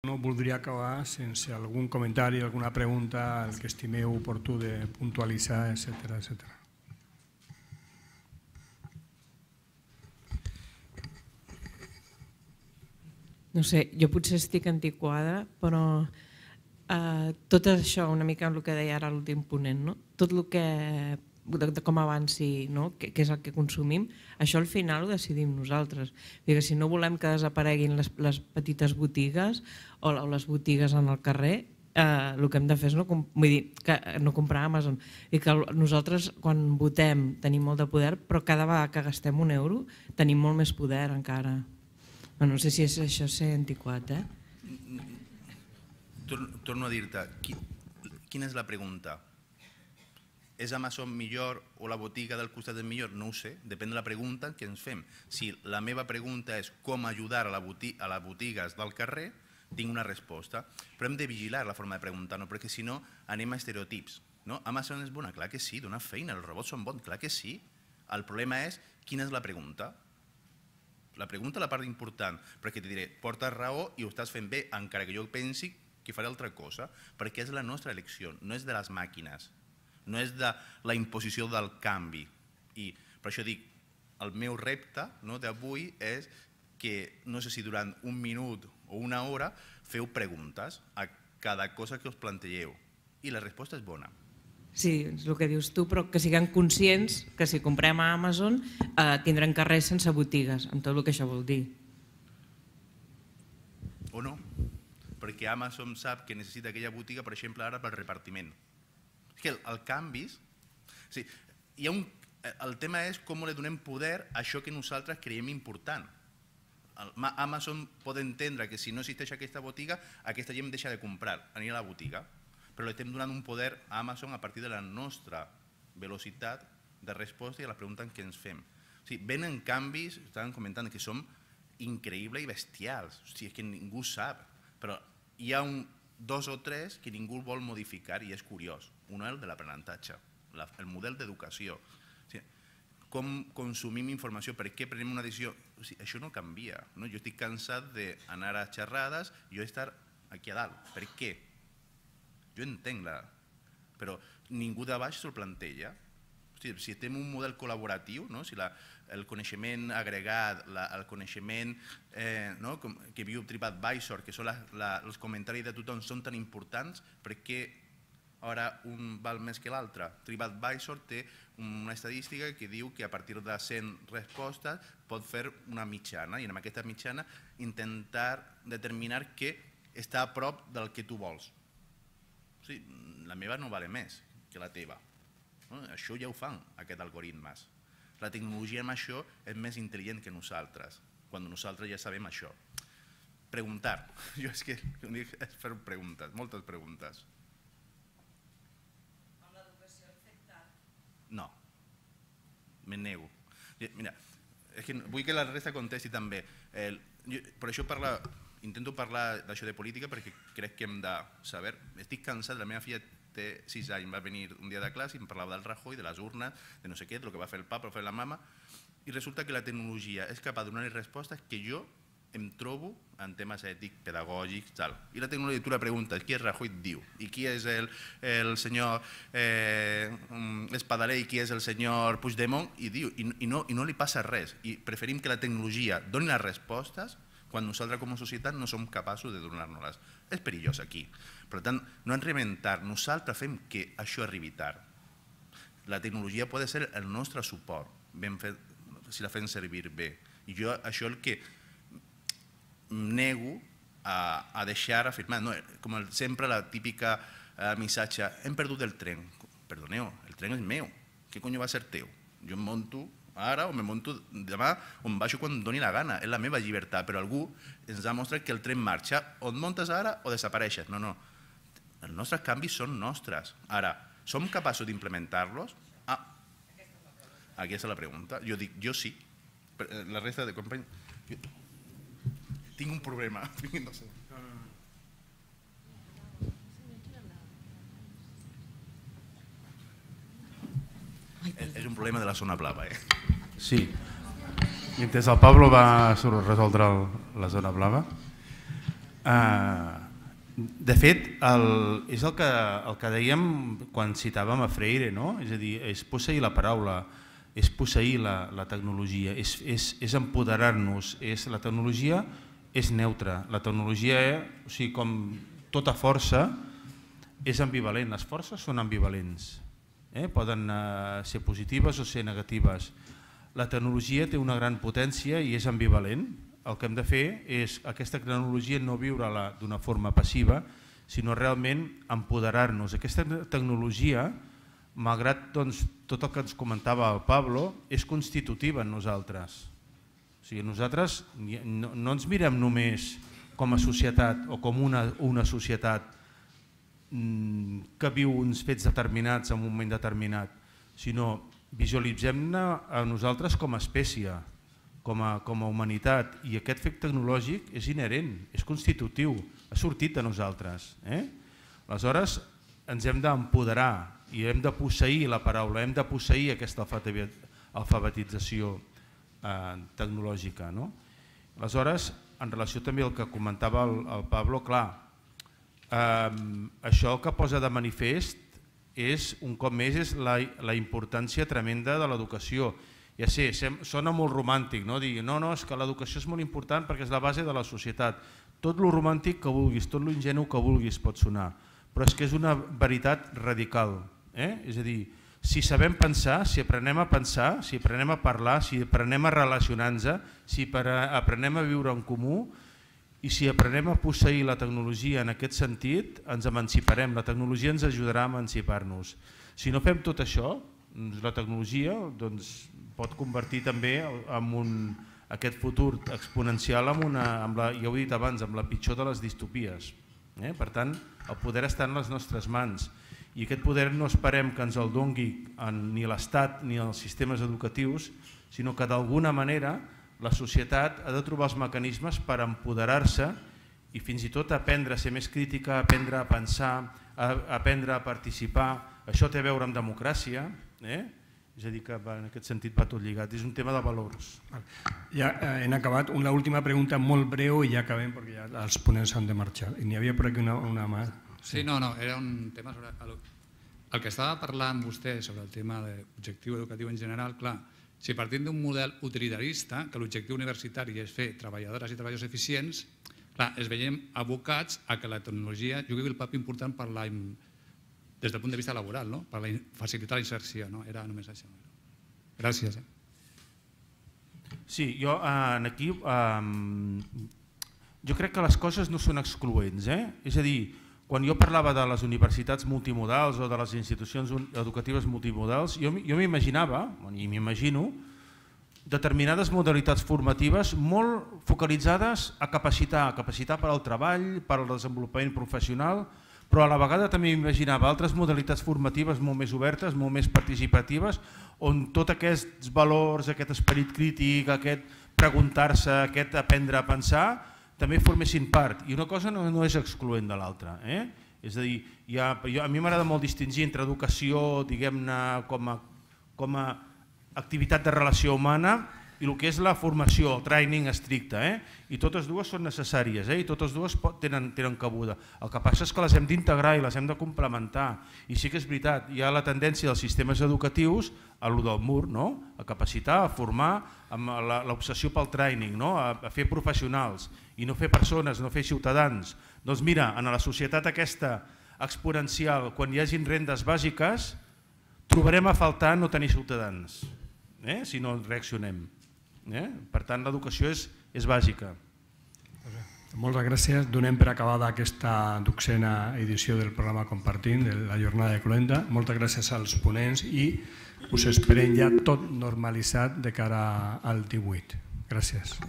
No voldria acabar sense algun comentari, alguna pregunta, el que estimeu oportú de puntualitzar, etc. No sé, jo potser estic antiquada, però tot això, una mica el que deia ara l'últim ponent, tot el que de com avanci, què és el que consumim, això al final ho decidim nosaltres. Si no volem que desapareguin les petites botigues o les botigues en el carrer, el que hem de fer és no comprar a Amazon. I que nosaltres, quan votem, tenim molt de poder, però cada vegada que gastem €1 tenim molt més poder encara. No sé si això és ser antiquat. Torno a dir-te, quina és la pregunta? És Amazon millor o la botiga del costat és millor? No ho sé, depèn de la pregunta que ens fem. Si la meva pregunta és com ajudar a les botigues del carrer, tinc una resposta, però hem de vigilar la forma de preguntar, perquè si no anem a estereotips. Amazon és bona? Clar que sí, dona feina, els robots són bons, clar que sí. El problema és quina és la pregunta. La pregunta és la part important, perquè te diré, portes raó i ho estàs fent bé, encara que jo pensi que faré altra cosa, perquè és la nostra elecció, no és de les màquines, no és de la imposició del canvi. I per això dic, el meu repte d'avui és que, no sé si durant un minut o una hora, feu preguntes a cada cosa que us plantegeu. I la resposta és bona. Sí, és el que dius tu, però que siguem conscients que si comprem a Amazon tindrem carrers sense botigues, amb tot el que això vol dir. O no, perquè Amazon sap que necessita aquella botiga, per exemple, ara pel repartiment. És que el canvi... El tema és com li donem poder a això que nosaltres creiem important. Amazon pot entendre que si no existeix aquesta botiga, aquesta gent deixa de comprar, anirà a la botiga, però li estem donant un poder a Amazon a partir de la nostra velocitat de resposta i a la pregunta que ens fem. Venen canvis, estaven comentant, que són increïbles i bestials, és que ningú sap, però hi ha dos o tres que ningú vol modificar i és curiós. Un és el de l'aprenentatge, el model d'educació. Com consumim informació, per què prenem una decisió, això no canvia. Jo estic cansat d'anar a xerrades i jo estar aquí a dalt. Per què? Jo entenc, però ningú de baix se'l planteja. Si estem en un model col·laboratiu, si el coneixement agregat, el coneixement que viu TripAdvisor, que són els comentaris de tothom, són tan importants, per què ara un val més que l'altre? TripAdvisor té una estadística que diu que a partir de 100 respostes pot fer una mitjana i en aquesta mitjana intentar determinar què està a prop del que tu vols. La meva no vale més que la teva. Això ja ho fan, aquests algoritmes. La tecnologia amb això és més intel·ligent que nosaltres, quan nosaltres ja sabem això. Preguntar. Jo és que és fer preguntes, moltes preguntes. Amb l'educació afectada? No. Me nego. Mira, vull que la resta contesti també. Per això intento parlar d'això de política perquè crec que hem de saber. Estic cansat, la meva filla té 6 anys, va venir un dia de classe i em parlava del Rajoy, de les urnes, de no sé què, del que va fer el papa, va fer la mama, i resulta que la tecnologia és capaç de donar respostes que jo em trobo en temes ètics, pedagògics, tal. I la tecnologia, tu la preguntes, qui és Rajoy? Diu. I qui és el senyor Espadaler i qui és el senyor Puigdemont? I diu. I no li passa res. I preferim que la tecnologia doni les respostes quan nosaltres com a societat no som capaços de donar-nos-les. És perillós aquí. Per tant, no ens reinventar, nosaltres fem que això arribi tard. La tecnologia pot ser el nostre suport, si la fem servir bé. I jo això el que nego a deixar afirmar, com sempre la típica missatge, hem perdut el tren. Perdoneu, el tren és meu, què cony va ser teu? Jo em monto ara o me monto demà o em baixo quan em doni la gana, és la meva llibertat, però algú ens ha mostrat que el tren marxa, o et montes ara o desapareixes. No, els nostres canvis són nostres. Ara, som capaços d'implementar-los? Aquesta és la pregunta. Jo dic, jo sí. La resta de companys... Tinc un problema. No sé. És un problema de la zona blava, Sí. Mentre el Pablo va resoldre la zona blava, De fet, és el que dèiem quan citàvem a Freire, no? És a dir, és posseir la paraula, és posseir la tecnologia, és empoderar-nos. La tecnologia és neutra, la tecnologia, o sigui, com tota força, és ambivalent. Les forces són ambivalents, poden ser positives o ser negatives. La tecnologia té una gran potència i és ambivalent. El que hem de fer és aquesta tecnologia no viure-la d'una forma passiva, sinó realment empoderar-nos. Aquesta tecnologia, malgrat tot el que ens comentava el Pablo, és constitutiva en nosaltres. O sigui, nosaltres no ens mirem només com a societat o com una societat que viu uns fets determinats en un moment determinat, sinó visualitzem-ne a nosaltres com a espècie, com a humanitat, i aquest fet tecnològic és inherent, és constitutiu, ha sortit de nosaltres. Aleshores ens hem d'empoderar i hem de posseir la paraula, hem de posseir aquesta alfabetització tecnològica. Aleshores, en relació també al que comentava el Pablo, clar, això el que posa de manifest és, un cop més, és la importància tremenda de l'educació. Ja sé, sona molt romàntic, no? Dir, no, és que l'educació és molt important perquè és la base de la societat. Tot lo romàntic que vulguis, tot lo ingenu que vulguis pot sonar, però és que és una veritat radical. És a dir, si sabem pensar, si aprenem a pensar, si aprenem a parlar, si aprenem a relacionar-nos, si aprenem a viure en comú i si aprenem a posseir la tecnologia en aquest sentit, ens emanciparem. La tecnologia ens ajudarà a emancipar-nos. Si no fem tot això, la tecnologia pot convertir també aquest futur exponencial ja ho he dit abans, amb la pitjor de les distopies. Per tant, el poder està en les nostres mans i aquest poder no esperem que ens el doni ni l'Estat ni els sistemes educatius, sinó que d'alguna manera la societat ha de trobar els mecanismes per empoderar-se i fins i tot aprendre a ser més crítica, aprendre a pensar, aprendre a participar. Això té a veure amb democràcia, és a dir, que en aquest sentit va tot lligat, és un tema de valors. Ja hem acabat. Una última pregunta molt breu i ja acabem perquè ja els ponents han de marxar. I n'hi havia per aquí una mà. Sí, no, era un tema sobre... El que estava parlant vostè sobre el tema d'objectiu educatiu en general, clar, si partim d'un model utilitarista, que l'objectiu universitari és fer treballadores i treballadors eficients, clar, es veiem abocats a que la tecnologia jugui el paper important des del punt de vista laboral, per facilitar la inserció. Era només això. Gràcies. Sí, jo aquí jo crec que les coses no són excloents. És a dir, quan jo parlava de les universitats multimodals o de les institucions educatives multimodals, jo m'imaginava, i m'imagino, determinades modalitats formatives molt focalitzades a capacitar per al treball, per al desenvolupament professional, però a la vegada també m'imaginava altres modalitats formatives molt més obertes, molt més participatives, on tots aquests valors, aquest esperit crític, aquest preguntar-se, aquest aprendre a pensar, també formessin part. I una cosa no és excloent de l'altra. És a dir, a mi m'agrada molt distingir entre educació, diguem-ne, com a activitat de relació humana i el que és la formació, el training estricte. I totes dues són necessàries i totes dues tenen cabuda. El que passa és que les hem d'integrar i les hem de complementar. I sí que és veritat, hi ha la tendència dels sistemes educatius a lo del mur, a capacitar, a formar, amb l'obsessió pel training, a fer professionals i no fer persones, no fer ciutadans. Doncs mira, en la societat aquesta exponencial, quan hi hagin rendes bàsiques, trobarem a faltar no tenir ciutadans, si no reaccionem. Per tant, l'educació és bàsica. Moltes gràcies. Donem per acabada aquesta 12a edició del programa Compartint, de la jornada de Cloenda. Moltes gràcies als ponents i us esperem ja tot normalitzat de cara al 18. Gràcies.